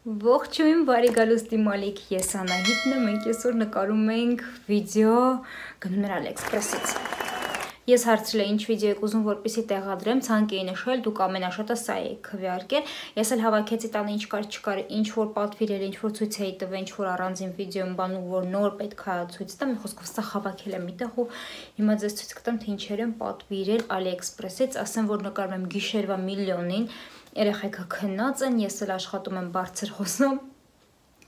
Ողջույն, բարի գալուստի Մալիք, ես Անահիտն եմ, մենք այսօր նկարում ենք վիդեո գնում էր AliExpress-ից։ Ես հարցրել եմ ինչ վիդեո եք ուզում, որպեսզի տեղադրեմ, ցանկ էի նշել, դուք ամենաշատը սա եք քվեարկել։ Ես էլ հավաքեցի տանը ինչ կար չկար, ինչ որ պատվիրել, ինչ որ ցույց էի տվել, ինչ որ առանձին վիդեոն բան ու որ նոր պետքա ցույց տամ, խոսքով սա հավաքել եմ միտեղ ու հիմա ձեզ ցույց կտամ թե ինչեր եմ պատվիրել AliExpress-ից, ասեմ որ նկարում եմ գիշերվա միլիոնին, երեխեքը քնած են, ես էլ աշխատում եմ բարձր խոսամ,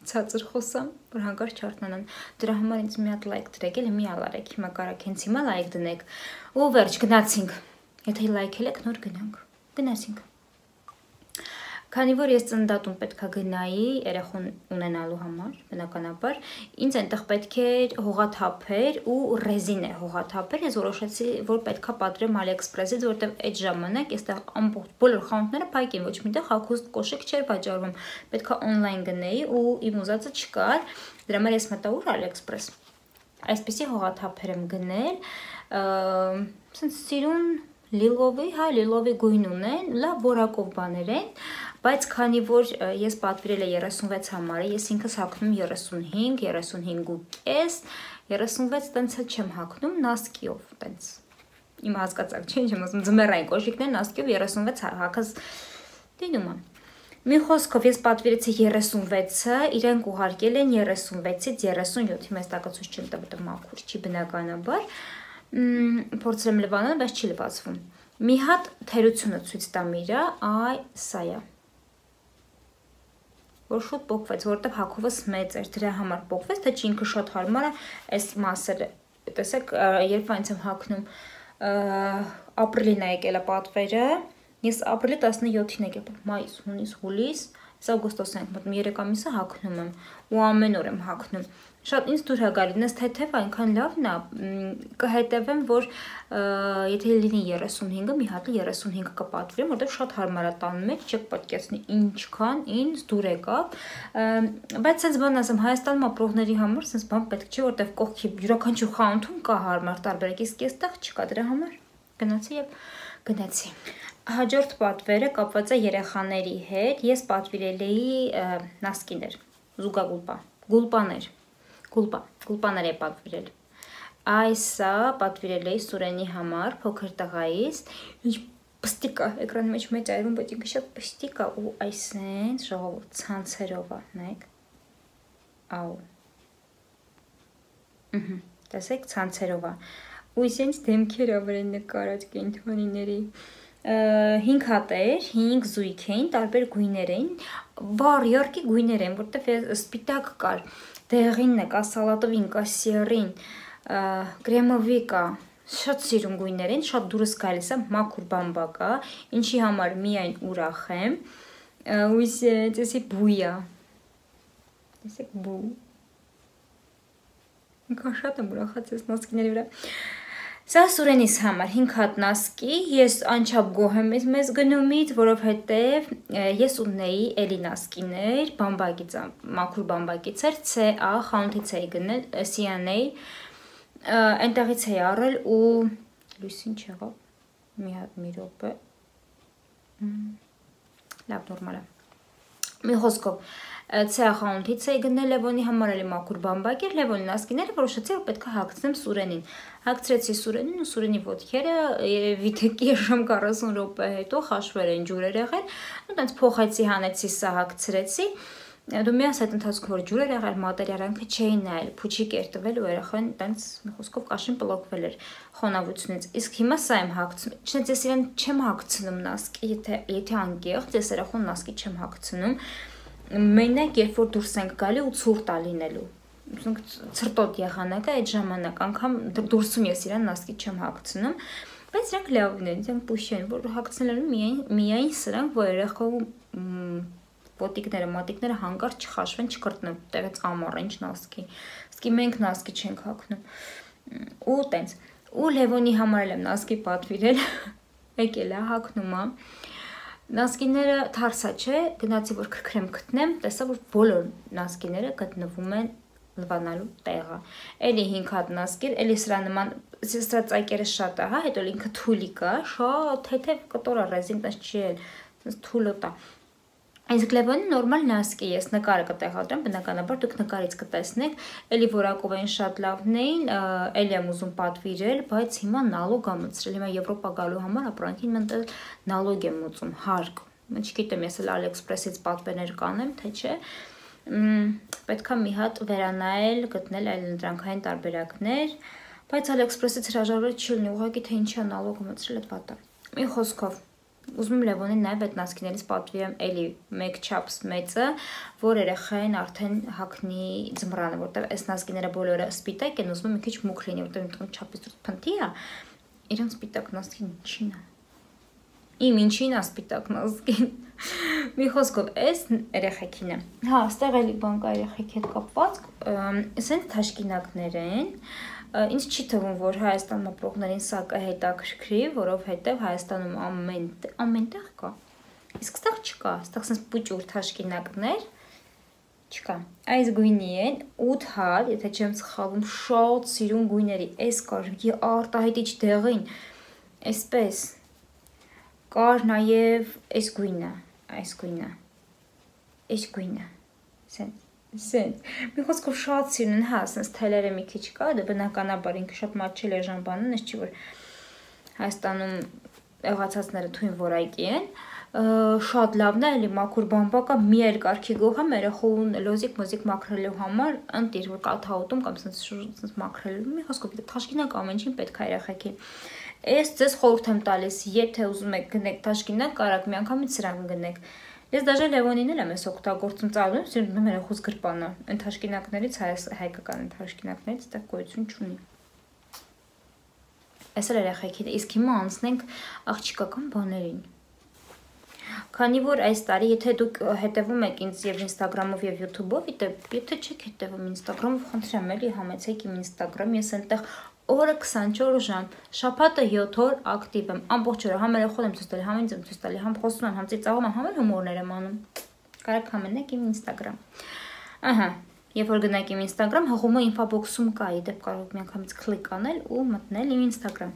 ցածր խոսամ, որ հանկարծ չարթնանան։ Դրա համար ինձ մի հատ լայք դրեք, էլ մի ալարեք, հիմա կարակ հենց հիմա լայք դնեք։ Ու վերջ գնացինք։ Եթե լայքել եք, նոր գնանք։ Գնացինք։ Քանի որ ես ծննդատուն պետքա գնայի երեխուն ունենալու համար, բնականաբար, ինձ այնտեղ պետք է հողաթափեր ու ռեզին է հողաթափեր, ես որոշեցի, որ պետքա պատվիրեմ AliExpress-ից, որտեղ այդ ժամանակ այստեղ ամբողջ բոլոր խանութները փակ են, ոչ միտեղ հագուստ կոշիկ չէր վաճառվում, պետքա on-line գնեի ու իմ ուզածը չկար, դրա համար ես մտա ուր AliExpress։ Այսպեսի հողաթափեր եմ գնել, սենց սիրուն լիլովի գույն ունեն, լավ որակով բաներ են, բայց քանի որ ես պատվիրել եմ 36 համարը, ես ինքս հագնում 35, 35.5, 36 տենց չեմ հագնում նասկիով, տենց իմ հասկացակ չէ, ինչ եմ ասում, ձմեռային կոշիկներ նասկիով 36 հագած դինում եմ։ Մի խոսքով ես պատվիրեցի 36-ը, իրենք ուղարկել են 36-ից 37, հիմա տակացույց չեմ տա, որտեղ մաքուր չի բնականաբար, փորձել եմ լվանալ, բայց չի լվացվում։ Մի հատ թերությունը ցույց տամ իրա, այ սա է։ Որ շուտ փոխվեց, որտեղ հագովս մեծ էր, դրա համար փոխվեց, թե ինքը շատ հարմար է, այս մասերը, տեսեք, երբ այնց եմ հագնում, ապրիլին է եկել է պատվերը, ես ապրիլի 17-ին եկել, մայիս, հունիս, հուլիս, օգոստոս ենք մտնում, 3 ամիսը հագնում եմ ու ամեն օր եմ հագնում։ Շատ ինձ դուր է գալի, նես թեթև այնքան լավն է, կհետևեմ, որ եթե լինի 35-ը, մի հատ 35 կպատվիրեմ, որտեղ շատ հարմար է տան մեջ, չեք պատկերացնի ինչքան ինձ դուր եկավ, բայց sense բան ասեմ, Հայաստանում ապրողների համար sense բան պետք չէ, որտեղ կողքի յուրաքանչյուր խանութում կա հարմար տարբերակ, իսկ այստեղ չկա, դրա համար գնացի եւ գնացի։ Հաջորդ պատվերը կապված է երեխաների հետ, ես պատվիրել էի նասկիներ, զուգագուլպա, գուլպաներ է պատվիրել։ Այսա պատվիրել էի Սուրենի համար, փոքր տղայից, ինչ պստիկ է, էկրանի մեջ մեծ այրում, բայց ինքը շատ պստիկ է ու այսենց ժողովուրդ ցանցերով է, նայեք։ Աու։ Տեսեք, ցանցերով է։ Ու այսենց դեմքերը վրան նկարած կենդանիների 5 հատեր, 5 զույգ էին, տարբեր գույներ էին, վառ յորքի գույներ են, որտեղ սպիտակ կար, դեղինն է, կա սալատովին, կա սիերին, կրեմովի կա, շատ սիրուն գույներ են, շատ դուրս գալիս է, մաքուր բամբակ է, ինչի համար միայն ուրախ եմ, ու տեսի բույա, տեսեք բու, ինքան շատ եմ ուրախած ես նասկիների վրա, Սա Սուրենիս համար 5 հատ նասկի, ես անչափ գոհ եմ մեզ գնումից, որովհետև ես ունեի էլի նասկիներ, բամբակից, մաքուր բամբակից էր, CA խանութից էի գնել, CNA, այնտեղից էի առել ու լույսին չեղավ, մի հատ մի րոպե, լավ նորմալ է, մի խոսքով, CA խանութից էի գնել Լևոնի համար էլի մաքուր բամբակ էր, Լևոնի նասկիները որոշեցի, որ պետք է հագցնեմ Սուրենին, հագցրեցի Սուրենին ու Սուրենի ոտքերը վիթեկի ժամ 40 րոպե հետո խաշվել են ջուրեր եղել, ու տենց փոխեցի, հանեցի, սա հագցրեցի, դու միաս այդ ընթացքում որ ջուրեր եղել, մատերիալանքը չէին նայել, փուչիկ էր տվել ու երախան տենց մի խոսքով կաշին պլոկվել էր խոնավությունից, իսկ հիմա սա եմ հագցնում, չնայած ես իրեն չեմ հագցնում նասկի, եթե անկեղծ, ես երախուն նասկի չեմ հագցնում, մենակ երբ որ դուրս ենք գալի ու ցուրտ է լինելու, ցրտոտ եղանակը այդ ժամանակ անգամ դուրսում ես իրան նասկի չեմ հագցնում, բայց իրանք լավն են, իրանք պուշ են, որ հագցնել են միայն սրանք, որ երեխու ոտիկները, մատիկները հանկարծ չխաշվեն, չկրտնեն, տեղից ամառ ինչ նասկի, իսկ մենք նասկի չենք հագնում, ու տենց, ու Լևոնի համար եմ նասկի պատվիրել, եկել է հագնում է, նասկիները թարսա չէ, գնացի որ քրքրեմ գտնեմ, տեսա որ բոլոր նասկիները գտնվում են լվանալու տեղը, էլի 5 հատ նասկիր, էլի սրա նման, սրա ծայկերը շատ է, հա, հետո ինքը թուլի կա, շատ թեթև կտոր է ռեզին, տես չի էլ, թուլոտ է, Իսկ Լևոնի նորմալ նասկի ես նկարը կտեղադրեմ, բնականաբար դուք նկարից կտեսնեք, էլի որակով են շատ լավն էին, էլի եմ ուզում պատվիրել, բայց հիմա նալոգ եմ մտցրել, հիմա Եվրոպա գալու համար ապրանքին մտել նալոգ եմ ուծում, հարկ, չգիտեմ ես էլ AliExpress-ից պատվերներ կանեմ, թե չէ, պետք է մի հատ վերանայել, գտնել այլ ընտրանքային տարբերակներ, բայց AliExpress-ից հրաժարվել չի լինի, ուղղակի թե ինչի նալոգը մտցրել այդ վատը։ Մի խոսքով ուզում եմ Լևոնին նաև այդ նասկիներից պատվիրեմ էլի մեկ չափս մեծը, որ երեխային արդեն հագնի ձմռանը, որտեղ այս նասկիները բոլորը սպիտակ են, ուզում եմ մի քիչ մուգ լինի, որտեղ ինքն չափից փնթի է, իրեն սպիտակ նասկին ինչին է։ Իմ ինչին է սպիտակ նասկին։ Մի խոսքով այս երեխեքին է։ Հա, այստեղ էլի բան կա երեխեքի հետ կապված, ասենք թաշկինակներ են։ Ինձ չի թվում, որ Հայաստանում ապրողներին սա կհետաքրքրի, որովհետև Հայաստանում ամենտեղ կա։ Իսկ ստեղ չկա, ստեղ sense պուճուր թաշկինակներ չկա։ Այս գույնի են 8 հատ, եթե չեմ սխալվում, շատ սիրուն գույների։ Այս կար արտահայտիչ դեղին։ Այսպես կար նաև այս գույնը, այս գույնը։ Սենց, մի խոսքով շատ սիրուն են, հա, սենց թելերը մի քիչ կա, դա բնականաբար ինքը շատ մատչել է ժամբանն, ես չի որ Հայաստանում եղացածները թույն որակի են, շատ լավն է, էլի մաքուր բամբակա, մի այլ կարգի գոհ եմ երեխուն լոզիկ մաքրելու համար, ընտիր, որ կաթաուտում կամ սենց մաքրելու, մի խոսքով թաշկինակ ամեն ինչին պետք է երեխեքին։ Ես ձեզ խորհուրդ եմ տալիս, եթե ուզում եք գնեք թաշկինակ, կարաք մի անգամից սրանք գնեք։ Ես դաժե Լևոնին էլ եմ ես օգտագործում ծավալում, սիրում երեխուց գրպանը, այն թաշկինակներից, հայկական այն թաշկինակներից դա գոյություն չունի։ Այս էլ երեխեքին, իսկ հիմա անցնենք աղջիկական բաներին։ Քանի որ այս տարի, եթե դուք հետևում եք ինձ եւ Instagram-ով եւ YouTube-ով, եթե չեք հետևում Instagram-ով, խնդրեմ էլի համեցեք իմ Instagram, ես այնտեղ օրը 24 ժամ, շաբաթը 7 օր ակտիվ եմ, ամբողջ օրը համ երեխուն եմ ցույց տալի, համ ինձ եմ ցույց տալի, համ խոսում եմ, համ ծիծաղում եմ, համ էլ հումորներ եմ անում։ Կարաք համենեք իմ Instagram։ Ահա, երբ որ գնաք իմ Instagram, հղումը ինֆոբոքսում կա, իդեպ կարող եք միանգամից քլիկ անել ու մտնել իմ Instagram։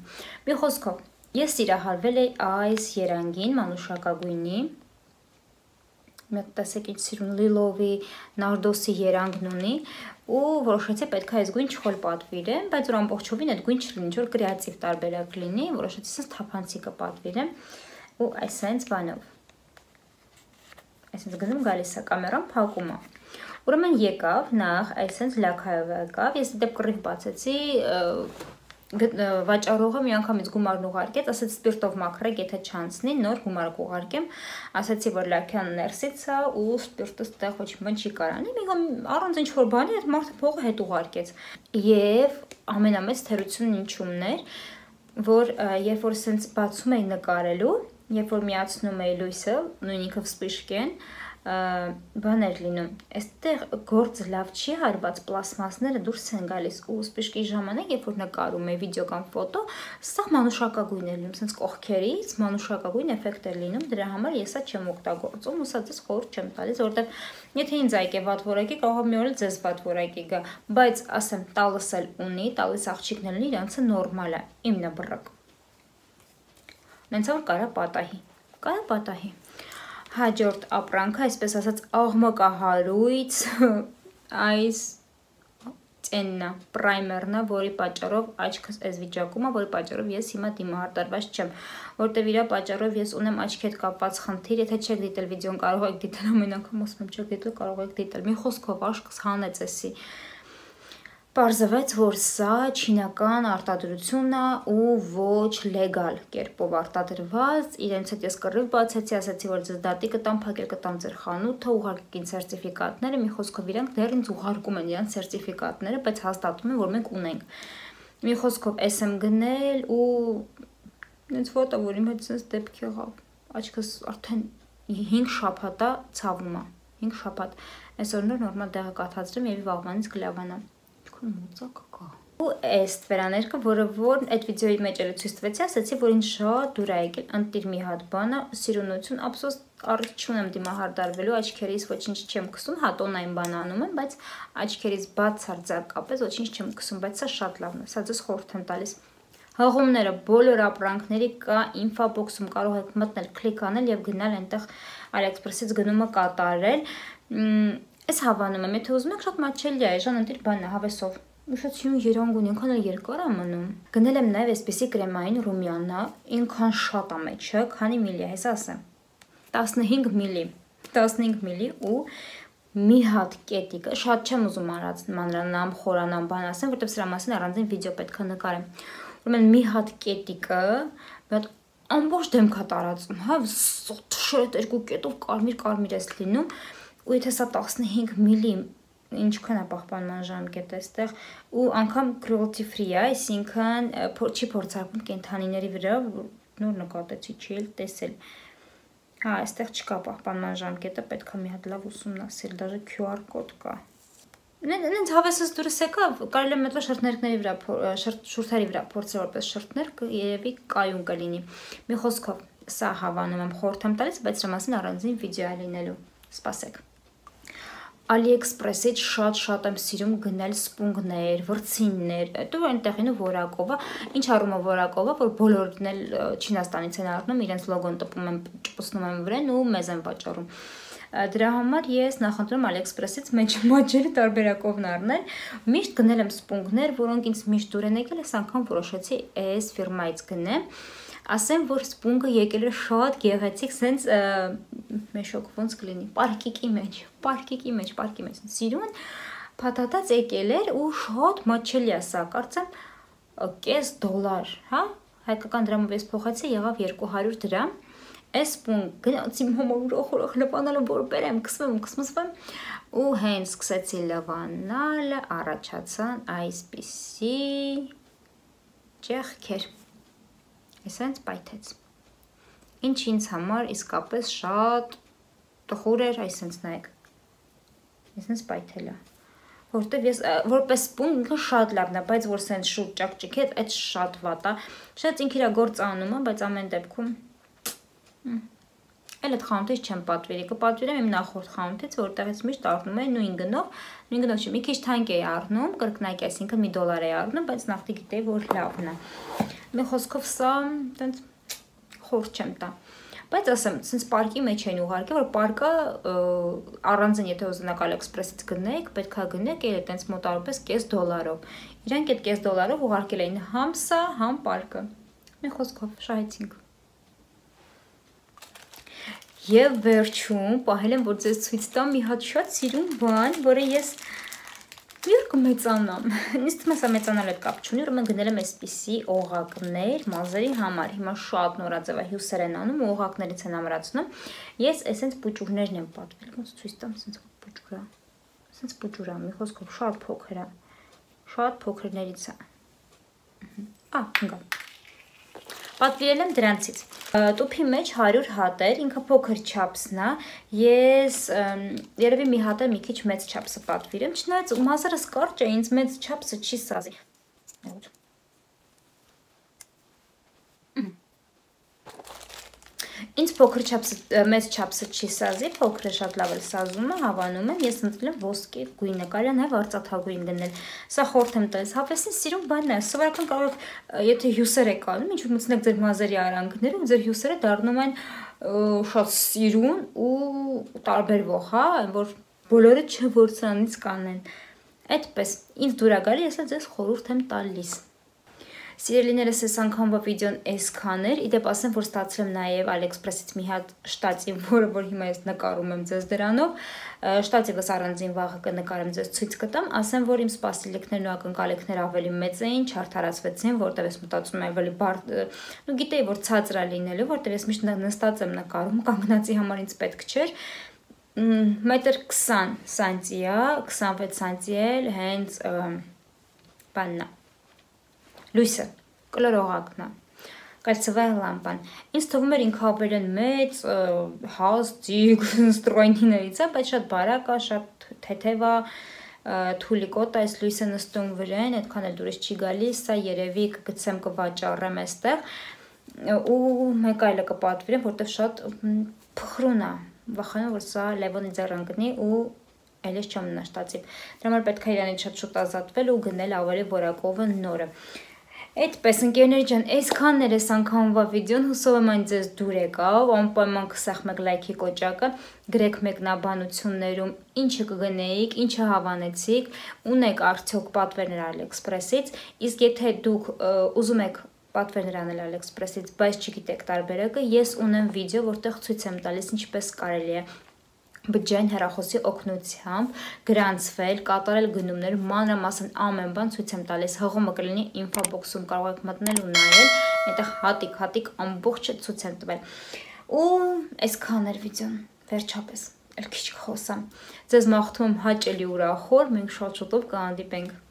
Մի խոսքով, ես սիրահարվել էի այս երանգին, մանուշակագույնի։ Մի տեսեք ինչ սիրուն լիլովի, նարդոսի երանգն ունի ու որոշեցի պետք է այս գույն չխոլ պատվիրեմ, բայց որ ամբողջովին այդ գույն չլինի, որ կրեատիվ տարբերակ լինի, որոշեցի sense թափանցիկը պատվիրեմ ու այսպես բանով։ Այսպես գնում գալիս է կամերան փակում է։ Ուրեմն եկավ նախ այսպես լաքայով եկավ, ես դեպ կռիվ բացեցի, վաճառողը մի անգամից գումարն ուղարկեց, ասաց սպիրտով մաքրեք, եթե չանցնի, նոր գումար կուղարկեմ, ասացի որ լաքյան ներսից է ու սպիրտը ստեղ ոչ մի բան չի կարանի, առանց ինչ որ բանի այդ մարդը փողը հետ ուղարկեց։ Եվ ամենամեծ թերությունն ինչումն էր, որ երբ որ սենց բացում էի նկարելու, երբ որ միացնում էի լույսը, նույն ինքը վսպիշկեն, բան էր լինում, այստեղ գործը լավ չի հարված, պլաստմասները դուրս են գալիս ու սպիշկի ժամանակ, երբ որ նկարում է վիդեո կամ ֆոտո, սա մանուշակագույն է լինում, sense կողքերից մանուշակագույն էֆեկտ է լինում, դրա համար ես սա չեմ օգտագործում ու սա ձեզ խորհուրդ չեմ տալիս, որովհետև եթե ինձ այկ է վատ որակի, կարող է մի օր էլ ձեզ վատ որակի գա, բայց ասեմ, տալս էլ ունի, տալիս աղջիկն էլ ունի, իրանցը նորմալ է, իմն է բռակ։ Նենց որ կարա պատահի։ Հաջորդ ապրանքը, այսպես ասած, աղմկահարույց, այս ծեննա, պրայմերնա, որի պատճառով աչքս այս վիճակում է, որի պատճառով ես հիմա դիմահարտարված չեմ, որտեվ իրա պատճառով ես ունեմ աչքի հետ կապված խնդիր, եթե չեք դիտել վիդեոն, կարող եք դիտել ամեն անգամ, ասում եմ չեք դիտել, կարող եք դիտել, մի խոսքով աշկս հանեց էսի։ Պարզվեց, որ սա չինական արտադրությունն է ու ոչ լեգալ կերպով արտադրված, իրենց հետ ես կռիվ բացեցի, ասացի, որ ձեզ դատի կտամ, փակել կտամ ձեր խանութը, ուղարկին սերտիֆիկատները, մի խոսքով իրանք դեռ ինձ ուղարկում են իրանք սերտիֆիկատները, բայց հաստատում են, որ մենք ունենք։ Մի խոսքով էս եմ գնել ու ինձ ֆոտո, որ իմ հետ sense դեպք եղավ, աչքս արդեն 5 շաբաթ է ցավում է, 5 շաբաթ, այսօր նորմալ դեղը կաթացրեմ եւ վաղվանից կլավանա։ Մոծակը կա։ Ու այս վերաներկը, որը որ այդ վիդեոյի մեջ էլ ցույց տվեցի, ասացի, որ ինձ շատ դուր է եկել, ընտիր մի հատ բանը, սիրունություն, ափսոս առիթ չունեմ դիմահարդարվելու, աչքերից ոչինչ չեմ քսում, հա տոնային բան անում եմ, բայց աչքերից բացարձակապես ոչինչ չեմ քսում, բայց սա շատ լավն է, սա ձեզ խորհուրդ եմ տալիս։ Հղումները բոլոր ապրանքների կա ինֆոբոքսում կարող եք մտնել, կլիկ անել եւ գնալ այնտեղ AliExpress-ից գնումը կատարել։ Այս հավանում եմ, եթե ուզում եք շատ մատչելի է, այժմ ընտիր բանն է, հավեսով։ Ուշացիում երանգ ունի, ինքան էլ երկար է մնում։ Գնել եմ նաև այսպեսի կրեմային ռումյանա, ինքան շատ է մեջը, քանի միլի է, հեսա ասեմ։ 15 միլի, 15 միլի ու մի հատ կետիկը, շատ չեմ ուզում մանրանամ, խորանամ, բան ասեմ, որտեղ սրա մասին առանձին վիդեո պետք է նկարեմ։ Ուրեմն մի հատ կետիկը, մի հատ ամբողջ դեմքա տարածում, հա, շոտ երկու կետով կարմիր էս լինում, ու եթե սա 15 միլի ինչքան է պահպանման ժամկետը այստեղ ու անգամ cruelty free է, այսինքն չի փորձարկվում կենդանիների վրա, նոր նկատեցի, չի էլ տեսել։ Հա, այստեղ չկա պահպանման ժամկետը, պետք է մի հատ լավ ուսումնասիրել, даже QR կոդ կա։ Նենց հավեսս դուրս եկա, կարելի է մետլո շրթներքների վրա, շուրթերի վրա փորձել որպես շրթներք, երևի կայուն կլինի։ Մի խոսքով, սա հավանում եմ, խորհուրդ եմ տալիս, բայց սրա մասին առանձին վիդեո է լինելու։ Սպասեք։ AliExpress-ից շատ եմ սիրում գնել սպունգներ, վրձիններ, դու այնտեղին ու որակով, ինչ առումով որակով, որ բոլորն էլ Չինաստանից են առնում, իրենց լոգոն տպում են, ճպուցնում են վրան ու մեզ են վաճառում։ Դրա համար ես նախընտրում AliExpress-ից մատչելի տարբերակովն առնել, միշտ գնել եմ սպունգներ, որոնք ինձ միշտ դուր են եկել, այս անգամ որոշեցի այս ֆիրմայից գնեմ, ասեմ, որ սպունգը եկել է շատ գեղեցիկ, սենց մեշոք ոնց կլինի, պարկիկի մեջ, սիրուն, փաթաթած եկել էր ու շատ մատչելի է սա, կարծեմ $0.5, հա, հայկական դրամով ես փոխեցի, եղավ 200 դրամ, այս սպունգ գնացի համար ուրախ լվանալը, որ բերեմ, կսմսվեմ ու հենց սկսեցի լվանալը, առաջացան այսպիսի ճեղքեր, այսենց պայթեց, ինչ ինձ համար իսկապես շատ տխուր էր, այսենց նայեք, այսենց պայթել է, որտև ես որպես սպունգ ինքը շատ լավն է, բայց որ սենց շուտ ճակճիք հետ, այդ շատ վատ է, շատ ինք իրա գործ անում է, բայց ամեն դեպքում Էլ այդ խանութից չեմ պատվիրի, կպատվիրեմ իմ նախորդ խանութից, որտեղից միշտ առնում էի նույն գնով չի, մի քիչ թանկ էի առնում, կրկնակի, այսինքն $1 էի առնում, բայց նախտի գիտեի, որ լավն է։ Մի խոսքով սա տենց խորտ չեմ տա։ Բայց ասեմ, ցենց պարկի մեջ են ուղարկել, որ պարկը առանձին, եթե ուզենաք AliExpress-ից գնեք, պետք է գնեք էլ այտենց մոտավորապես $0.5-ով։ Իրանք այդ $0.5-ով ուղարկել էին համ սա, համ պարկը։ Մի խոսքով շահեցինք։ Եվ վերջում պահել եմ, որ ձեզ ցույց տամ մի հատ շատ սիրուն բան, որը ես մի օր կմեծանամ։ Ինձ թվում է սա մեծանալ հետ կապ չունի, ուրեմն գնել եմ այսպիսի օղակներ մազերի համար։ Հիմա շատ նորաձև է, հյուսեր են անում, օղակներից են ամրացնում։ Ես այսենց պուճուրներն եմ պատվել, ոնց ցույց տամ, այսենց պուճուրա։ Այսենց պուճուրա, մի խոսքով շատ փոքր է։ Շատ փոքրներից է։ Ընկա։ Պատվիրել եմ դրանցից։ Տուփի մեջ 100 հատ էր, ինքը փոքր չափսն է, ես երևի մի հատ մի քիչ մեծ չափսը պատվիրեմ, չնայած մազերս կարճ է, ինձ մեծ չափսը չի սազի։ Ինձ փոքր չափսը, մեծ չափսը չի սազի, փոքրը շատ լավ էլ սազում է, հավանում եմ, ես ընտրել եմ ոսկե գույնը, կարելի է նաև արծաթագույն գնել։ Սա խորհուրդ եմ տալիս, հավեսին սիրուն բան է, սովորական կարող եք, եթե հյուսեր եք անում, ինչ որ մտցնեք ձեր մազերի արանքներում, ձեր հյուսերը դառնում են շատ սիրուն ու տարբերվող, հա, որ բոլորը չորցրանից կանեն։ Այդպես, ինձ դուր է գալի, ես էլ ձեզ խորհուրդ եմ տալիս։ Սիրելիներս, այս անգամվա վիդեոն այսքան էր, իդեպ ասեմ, որ ստացել եմ նաև AliExpress-ից մի հատ շտատիվ, որ հիմա ես նկարում եմ ձեզ դրանով, շտատիվս առանձին վաղը կնկարեմ ձեզ ցույց կտամ, ասեմ, որ իմ սպասելիքներն ու ակնկալիքները ավելի մեծ էին, չարդարացվեցին, որտեղ ես մտածում եմ ավելի բարդ, ու գիտեի, որ ցածր է լինելու, որտեղ ես միշտ նստած եմ նկարում, կանգնածի համար ինձ պետք չէր, 1.20 սանտի է, 26 սանտի էլ հենց բանն է, լույսը, կլորողակն է, կալցվային լամպան, ինձ թվում էր ինքը ավելի մեծ, հազդիկ, ստրոյնիներից է, բայց շատ բարակ է, շատ թեթև է, թուլիկոտ է, այս լույսը նստում վրան, այդքան էլ դուրս չի գալիս, սա երևի կգցեմ կվաճառեմ այստեղ, ու մեկ այլը կպատվիրեմ, որտեղ շատ փխրուն է, վախենում, որ սա լևոնի ձեռան գնի ու այլես չեմ նշտացիվ, դրա համար պետք է իրանից շատ շուտ ազատվել ու գնել ավելի որակովը նորը։ Այդպես ընկերներ ջան, այսքանն էր այս անգամվա վիդեոն, հուսով եմ այն ձեզ դուր եկավ, անպայման կսախ մեկ լայքի կոճակը, գրեք մեկնաբանություններում ինչը կգնեիք, ինչը հավանեցիք, ունեք արդյոք պատվերներ AliExpress-ից, իսկ եթե դուք ուզում եք պատվերներ անել AliExpress-ից, բայց չգիտեք տարբերակը, ես ունեմ վիդեո, որտեղ ցույց եմ տալիս ինչպես կարելի է բջջային հեռախոսի օգնությամբ գրանցվել, կատարել գնումներ, մանրամասն ամեն բան ցույց եմ տալիս, հղումը կլինի ինֆոբոքսում կարող եք մտնել ու նայել, այնտեղ հատիկ ամբողջը ցույց եմ տվել։ Ու այսքան էր վիդեոն, վերջապես, էլ քիչ կխոսամ։ Ձեզ մաղթում եմ հաճելի ուրախոր, մենք շատ շուտով կհանդիպենք։